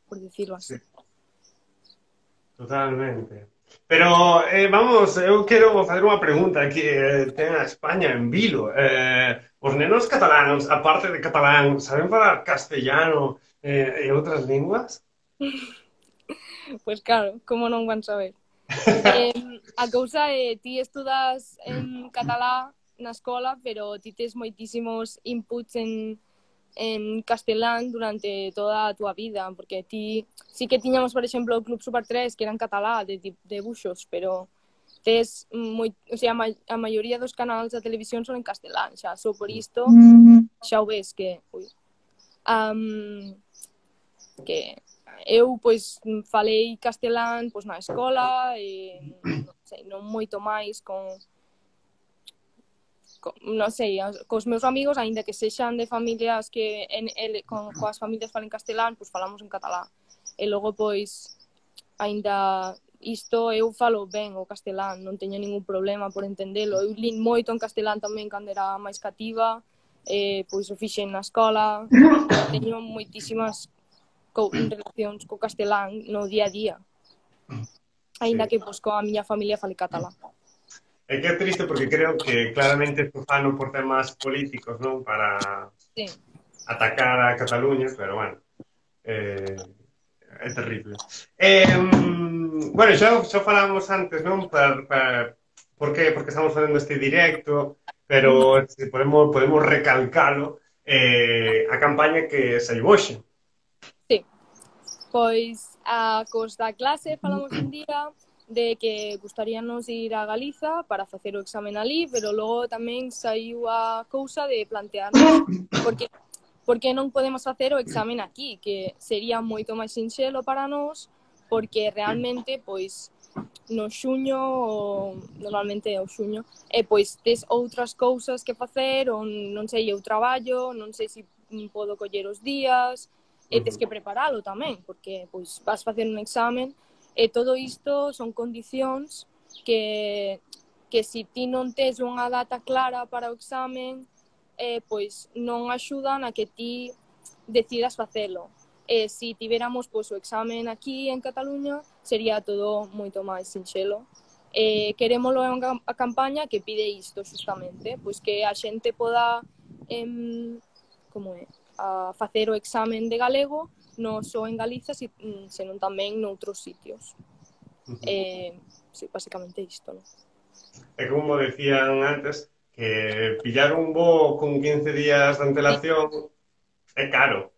por dicirlo así. Sí. Totalmente. Pero, eh, vamos, eu quero facer unha pregunta que eh, ten a España en vilo. Eh, os nenos cataláns, aparte de catalán, saben falar castellano eh, e outras linguas? Pois claro, como non van saber? eh, a cousa é, ti estudas en catalá na escola, pero ti tes moitísimos inputs en en castelán durante toda a túa vida, porque ti sí que tiñamos, por exemplo, o Club Super tres, que era en catalá, de debuxos, pero tes moi, o sea, a maioría dos canais da televisión son en castelán, xa, só por isto, xa o ves que, ui, um, que eu, pois, falei castelán, pois, na escola, e, non sei, non moito máis con non sei, cos meus amigos, aínda que sexan de familias que en, el, con, coas familias falan castelán, pois falamos en catalá. E logo, pois, aínda isto eu falo ben o castelán, non teño ningún problema por entendelo. Eu lin moito en castelán tamén cando era máis cativa, eh, pois o fixen na escola, teño moitísimas co relacións co castelán no día a día. Aínda que, pois, coa miña familia fale catalán. É que é triste porque creo que claramente isto fano por temas políticos, non? Para sí. atacar a Cataluña, pero bueno, eh, é terrible. Eh, bueno, xa, xa falamos antes, non? Para, para, por que? Porque estamos facendo este directo, pero se podemos, podemos recalcalo, eh, a campaña que saiu hoxe. Sí, pois a cos da clase falamos un día de que gustaríanos ir a Galiza para facer o examen alí, pero logo tamén saiu a cousa de plantearnos porque, porque non podemos facer o examen aquí, que sería moito máis sinxelo para nós, porque realmente, pois, no xuño, ou, normalmente é o xuño, e pois tes outras cousas que facer, ou non sei, eu traballo, non sei se podo coller os días, e tes que preparalo tamén, porque pois vas facer un examen. E todo isto son condicións que, que se ti non tes unha data clara para o examen, eh, pois non axudan a que ti decidas facelo. E se tiveramos pois, o examen aquí en Cataluña, sería todo moito máis sinxelo. E querémolo en a campaña que pide isto, justamente, pois que a xente poda em, como é, a facer o examen de galego, non só en Galiza, senón tamén noutros sitios. Uh -huh. eh, sí, basicamente isto, non? É como decían antes, que pillar un voo con quince días de antelación é caro.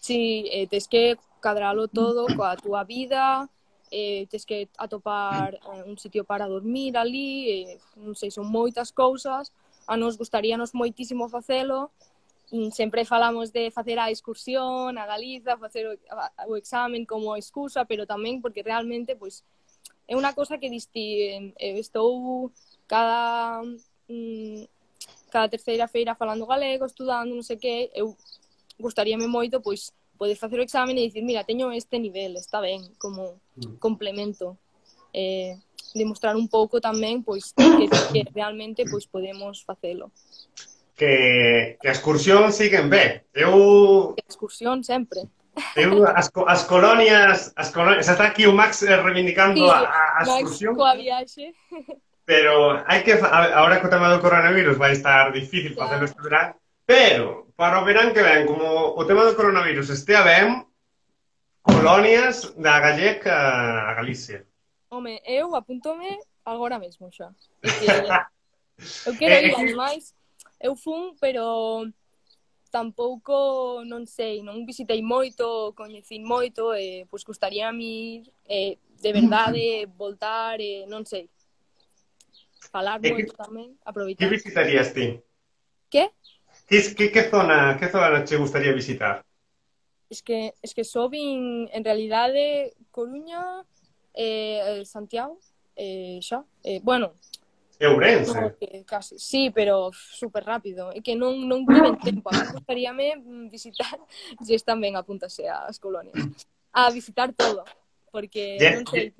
Sí, eh, tes que cadralo todo coa túa vida, eh, tes que atopar eh, un sitio para dormir ali, eh, non sei, son moitas cousas, a nos gustaríanos moitísimo facelo. Sempre falamos de facer a excursión a Galiza, facer o, o examen como excusa, pero tamén porque realmente pois, é unha cosa que disti, eu estou cada, mm, cada terceira feira falando galego, estudando, non sei que, eu gustaríame moito pois, poder facer o examen e dicir, mira, teño este nivel, está ben, como complemento. Eh, demostrar un pouco tamén pois, que, que realmente pois, podemos facelo. Que, que a excursión siguen ben. Eu... A excursión sempre. Eu, as, as colonias, as colonias... Está aquí o Max reivindicando sí, a, a excursión. Max coa viaxe. Pero hai que... Ahora co tema do coronavirus vai estar difícil claro. facelo este verán, Pero, para o verán que ven, como o tema do coronavirus estea ben, colonias da Gallega a Galicia. Home, eu apúntome agora mesmo xa. É que eu quero É, é ir, que, ademais, eu fun, pero tampouco, non sei, non visitei moito, coñecín moito, e pois gustaría a mí eh, de verdade voltar, e non sei, falar é que, moito tamén, que aproveitar. visitarías ti? Que? Que, que, que zona que zona che gustaría visitar? Es que, es que só vin, en realidade, Coruña, eh, Santiago, eh, xa. Eh, bueno, Ourense. no, que casi, sí, pero super rápido. É que non, non tiven tempo. A mí gustaríame visitar, se están ben, apúntase ás colonias, a visitar todo, porque, Je- non sei, Je-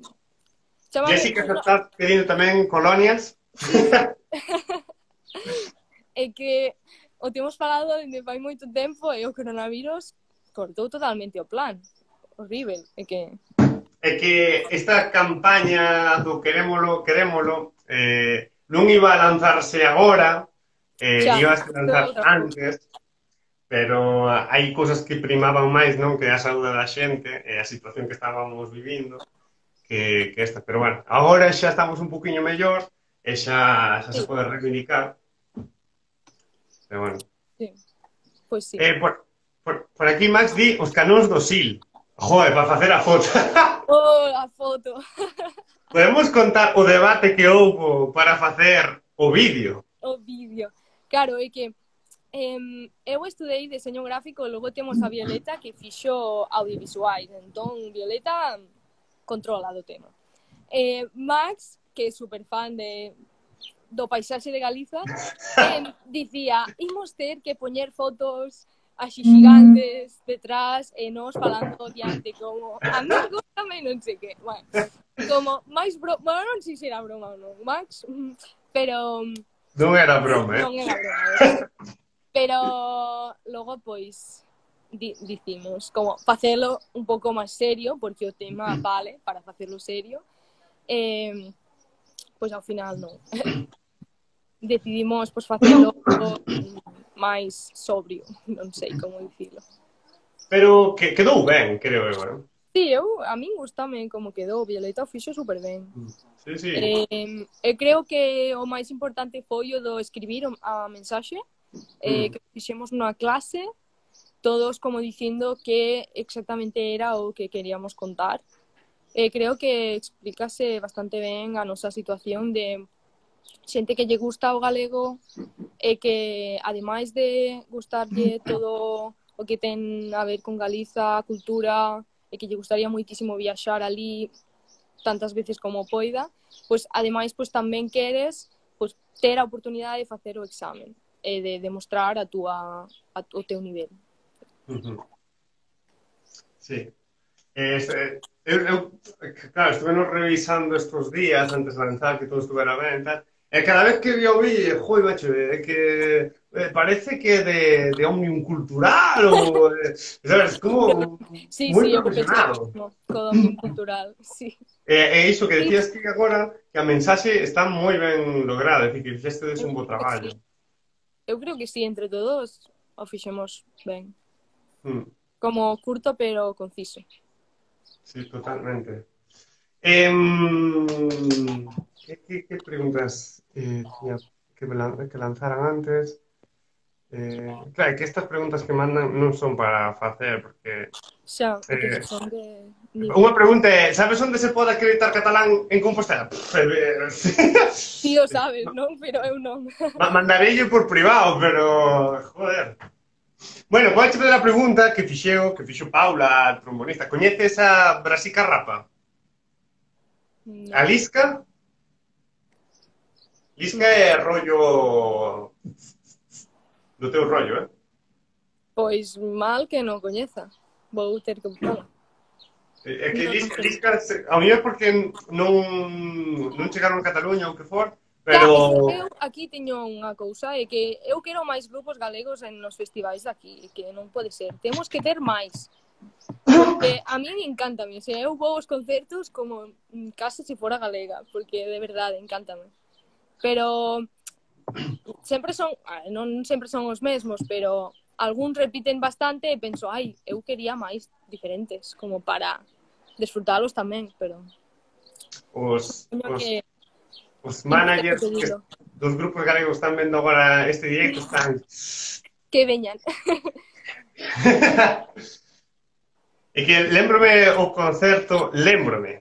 chámame, Jessica, se estás pedindo tamén colonias? é que o temos falado dende fai moito tempo e o coronavirus cortou totalmente o plan. Horrible, é que... É que esta campaña do querémolo, querémolo, eh, non iba a lanzarse agora, eh, Xa, iba a isto é lanzar outra cousa. antes, pero hai cousas que primaban máis, non? Que a saúde da xente e a situación que estábamos vivindo que, que esta. Pero bueno, agora xa estamos un poquinho mellor e xa, xa se Sí, pode reivindicar. Pero bueno. sí, pois sí. Eh, por, por, por aquí Max di os canóns do Sil. Joder, para facer a foto. Oh, a foto. Podemos contar o debate que houbo para facer o vídeo. O vídeo. Claro, é que em, eu estudei deseño gráfico e logo temos a Violeta que fixo audiovisuais. Entón, Violeta controla do tema. Eh, Max, que é super fan de, do paisaxe de Galiza, eh, dicía, imos ter que poñer fotos así gigantes detrás e nos falando diante como amigos tamén non sei que. Bueno, como máis broma, bueno, non sei se era broma ou non, Max, pero Non era broma, eh? non era broma. Pero logo, pois, di dicimos como facelo un pouco máis serio, porque o tema vale para facelo serio. Eh, pois ao final non. Decidimos pois facelo máis sobrio, non sei como dicilo. Pero que quedou ben, creo eu, eh? Sí, eu, a min gustame como quedou, Violeta o fixo super ben. Sí, sí. Eh, eu creo que o máis importante foi o do escribir a mensaxe, eh, que fixemos nunha clase, todos como dicindo que exactamente era o que queríamos contar. Eh, creo que explícase bastante ben a nosa situación de xente que lle gusta o galego e que, ademais de gustarlle todo o que ten a ver con Galiza, a cultura, e que lle gustaría moitísimo viaxar ali tantas veces como poida, pois ademais pois tamén queres pois ter a oportunidade de facer o examen e de demostrar a túa a, o teu nivel. Uh-huh. Sí. Eh, eu, eu, claro, estuve nos revisando estos días antes de lanzar que todo estuvera ben e tal. E cada vez que eu vi, joi, macho, é que eh, parece que de, de Omnium Cultural ou, eh, sabes, como Sí, moi sí, eu que profesional. pensaba, co Omnium Cultural, sí. E, e iso que decías ti agora, que a mensaxe está moi ben lograda, é dicir, que fixestedes un bo traballo. Sí. Eu creo que sí, entre todos o fixemos ben. Mm. Como curto, pero conciso. Sí, totalmente. Eh, ¿qué, qué, qué preguntas eh, tenía que, lan- que lanzaran antes? Eh, claro, que estas preguntas que mandan non son para facer, porque... Xa, é que Eh, son de... unha pregunta é, sabes onde se pode acreditar catalán en Compostela? Ti o sabes, non? Pero eu non. Mandarelle por privado, pero... Joder. Bueno, vou fazer a pregunta que fixeo, que fixo Paula, a trombonista. Coñeces a Brasica Rapa? No. A Lisca? Lisca é rollo... do teu rollo, eh? Pois mal que non coñeza. Vou ter que buscalo. É que No, Lisca, non sei. Lisca a mellor porque non, non chegaron a Cataluña ou que for, Claro, pero... eu aquí teño unha cousa, é que eu quero máis grupos galegos en nos festivais daqui, que non pode ser. Temos que ter máis. Porque a mí me encanta, o sea, eu vou aos concertos como casi se fora galega, porque de verdade, encántame. Pero sempre son, ah, non sempre son os mesmos, pero algúns repiten bastante e penso, ai, eu quería máis diferentes, como para desfrutalos tamén, pero Os, supoño os, que os imos ter que managers que- pedilo. dos grupos galegos están vendo agora este directo, están... Que veñan. E que lembrome o concerto, lembrome,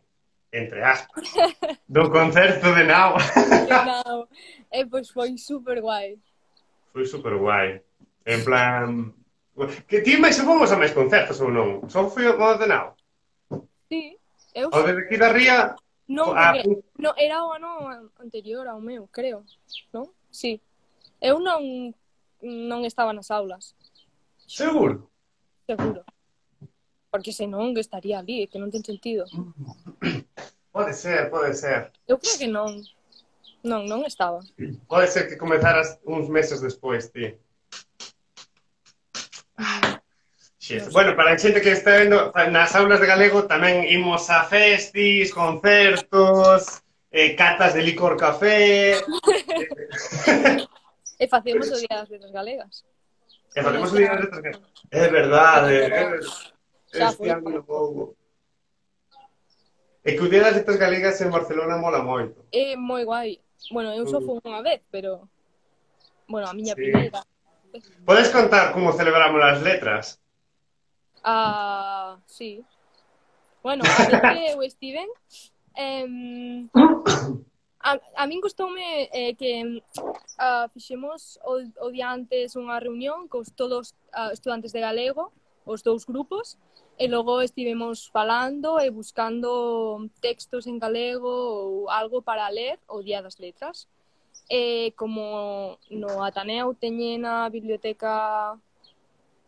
entre aspas, do concerto de Nao. Non, e pois foi super guai. Foi super guai. En plan... Que ti máis fomos a máis concertos ou non? Só foi o de Nao. Sí, eu O de aquí da Ría... non, a- porque no, era o ano anterior ao meu, creo, non? Sí. Eu non non estaba nas aulas, Seguro? seguro. Porque senón que estaría ali, que non ten sentido. Pode ser, pode ser. Eu creo que non. Non, non estaba. Pode ser que comezaras uns meses despois, ti. Xes. Bueno, para a xente que está vendo, nas aulas de galego tamén imos a festis, concertos, eh, catas de licor café... E facemos o Día das Letras Galegas. E facemos o día das letras galegas. É verdade, é verdade. Xa Este foi. ano non houbo. É que o día das letras galegas en Barcelona mola moito. É moi guai. Bueno, eu só fui unha vez, pero... Bueno, a miña Sí. primeira. Podes contar como celebramos as letras? Ah, sí. Bueno, a vez que eu estiven, em, a, a min gustoume eh, que ah, fixemos o, o día antes unha reunión cos todos ah, estudantes de galego, os dous grupos, e logo estivemos falando e buscando textos en galego ou algo para ler o Día das Letras. E como no Ateneo teñen a biblioteca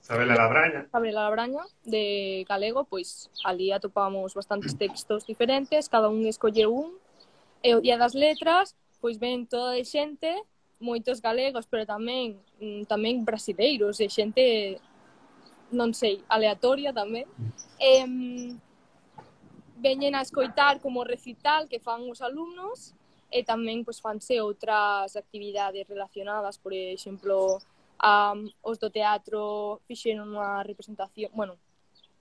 Sabela Labraña. Gabriela Labraña de galego, pois ali atopamos bastantes textos diferentes, cada un escolle un, e o Día das Letras, pois ven toda de xente, moitos galegos, pero tamén mm, tamén brasileiros, e xente, non sei, aleatoria tamén. E, mm, veñen a escoitar como recital que fan os alumnos, e tamén pois fanse outras actividades relacionadas, por exemplo, Um, os do teatro fixeron unha representación, bueno,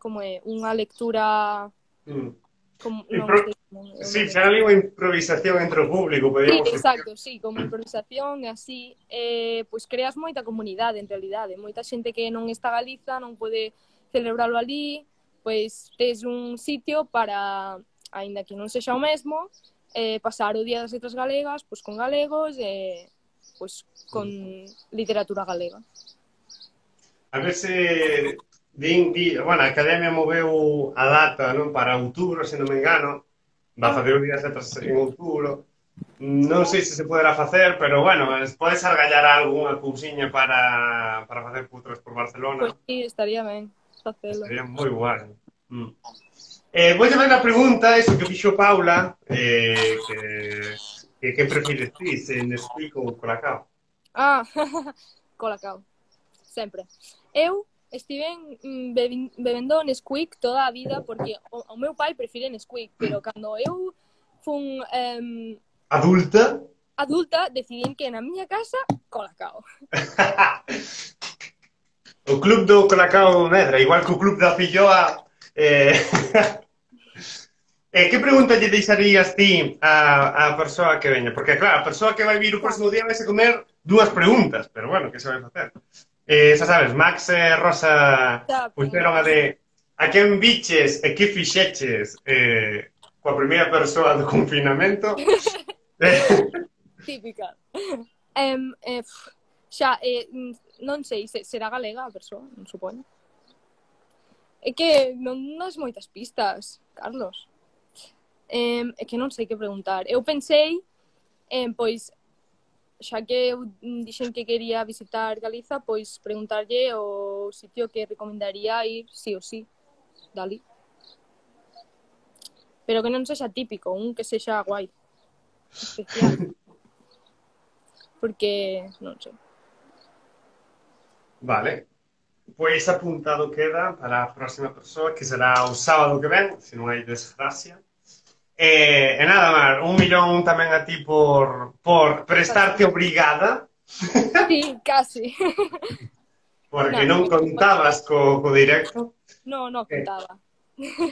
como é, unha lectura Mm. como, non Impro- sei como é o Sí, nome. xa ali unha improvisación entre o público, Sí, podríamos decir. exacto, sí, como improvisación e así, eh, pois creas moita comunidade en realidade, moita xente que non está en Galiza, non pode celebralo ali, pois tes un sitio para, aínda que non sexa o mesmo, eh, pasar o Día das Letras Galegas pois con galegos e pois con literatura galega. A ver se... Din, di, bueno, a Academia moveu a data, non, para outubro, se non me engano. Va a facer o día das letras en outubro. Non sei se se poderá facer, pero bueno, podes argallar algunha cousiña para, para facer putros por Barcelona. Pois sí, estaría ben facelo. Sería moi guai. Mm. Eh, vou facer a pregunta, eso que fixo Paula, eh, que, que, que prefires ti, se Nesquik ou Colacao? Ah, Colacao, sempre. Eu estiven mm, bebi- bebendo Nesquik toda a vida porque o, o meu pai prefire Nesquik, pero cando eu fun em, Adulta? adulta decidín que na miña casa Colacao. O club do Colacao Medra, igual que o club da Filloa. Eh... eh, que pregunta lle deixarías ti a, a persoa que veña? Porque, claro, a persoa que vai vir o próximo día vai se comer dúas preguntas, pero bueno, que se vai facer? Eh, xa sabes, Max e Rosa Xa, puxeron a de a quen biches e que fixeches eh, coa primeira persoa do confinamento. Eh, típica. Em, eh, pf, xa, eh, mm, non sei, se, será galega a persoa, non supoño. É que non das moitas pistas, Carlos. Eh, é que non sei que preguntar. Eu pensei, eh, pois, xa que eu dixen que quería visitar Galiza, pois preguntarlle o sitio que recomendaría ir sí ou sí, dali. Pero que non sexa típico, un que sexa guai, especial. Porque, non sei. Vale. Pois apuntado queda para a próxima persoa, que será o sábado que ven, se non hai desgracia. E, e nada, Mar, un millón tamén a ti por, por prestarte obrigada Sí, casi. Porque No, non contabas co, co directo. no, no Eh, contaba.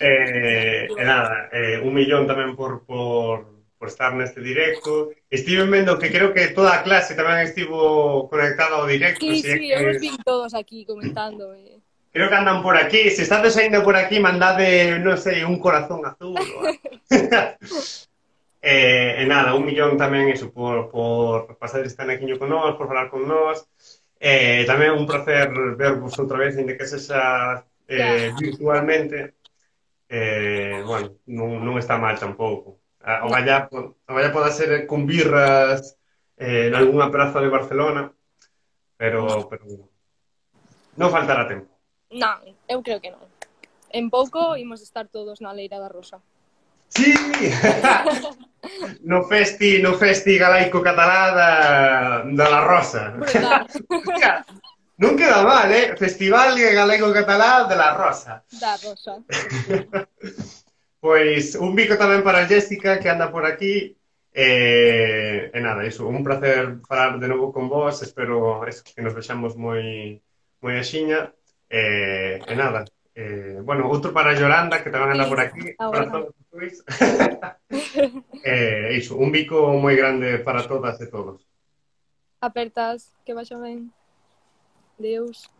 eh, e nada, eh, un millón tamén por, por, por estar neste directo. Estiven vendo que creo que toda a clase tamén estivo conectada ao directo, Sí, si é sí, que eu os vi todos aquí comentando. eh. creo que andan por aquí. Se estades ainda por aquí, mandade, non sei, un corazón azul ou algo. eh, e nada, un millón tamén iso por, por pasar este anaquiño con nós, por falar con nós. Eh, tamén un placer vervos outra vez, ainda que sexa eh, Ya, virtualmente. Eh, bueno, non, non está mal tampouco. A- O no, vaya, o vaya poda ser con birras eh, en algunha praza de Barcelona, no, pero, pero non faltará tempo. non, eu creo que non. En pouco imos estar todos na Leira da Rosa. Sí! no festi, no festi galaico catalá da, da La Rosa. Brutal, Hostia, non queda mal, eh? Festival galaico catalá de La Rosa. da Rosa. Pois un bico tamén para Jessica que anda por aquí. E, e nada, iso, un placer falar de novo con vos. Espero eso, que nos vexamos moi moi axiña. E, e nada, eh, bueno, outro para Yolanda que tamén anda Sí, por aquí. Para agora. todos os E iso, un bico moi grande para todas e todos. Apertas, que vaxa ben. Deus.